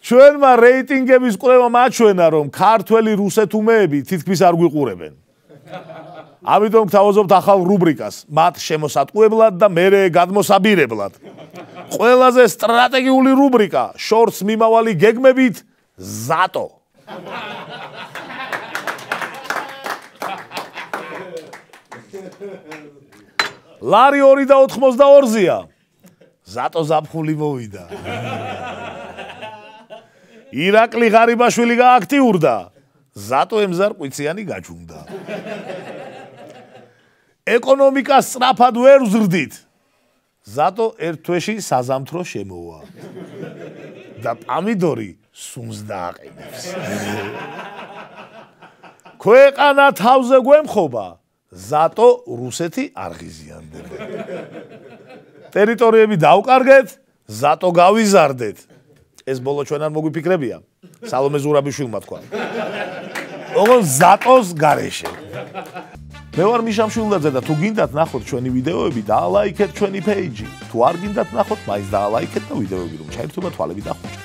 ჩვენმა რეიტინგების კვლევამ აჩვენა, რომ ქართველი რუსეთუმეები თითქმის არ გვიყურებენ. ამიტომ გთავაზობთ ახალ რუბრიკას, მათ შემოსატყუებლად და მერე გადმოსაბირებლად. ყველაზე სტრატეგიული რუბრიკა, შორტს მიმავალი გეგმებით, ზატო. ლარი 2.82-ია. ზატო ზაფხული მოვიდა. ირაკლი ღარიბაშვილი გააქტიურდა. ზატო ემზარყვიციანი გაჩუნდა. ეკონომიკა სწრაფად ვერ ვზრდით. ზატო ერთ თვეში საზამთრო შემოვა. და პამიდორი სუნს დააყენებს. ქვეყანა თავზე გვემხობა. ზატო რუსეთი არ ღიზიანდება. ტერიტორიები დავკარგეთ, ზატო გავიზარდეთ. ეს ბოლო ჩვენ არ მოგვიფიქრებია. სალომე ზურაბიშვილმა თქვა. ოღონდ ზატოს გარეშე. მე ვარ მიშა მშვილდაძე და თუ გინდათ ნახოთ ჩვენი ვიდეოები, დაალაიქეთ ჩვენი პეიჯი. თუ არ გინდათ ნახოთ, მაინც დაალაიქეთ და ვიდეოები რომ ჩაერთვება თვალები და ხუჭი.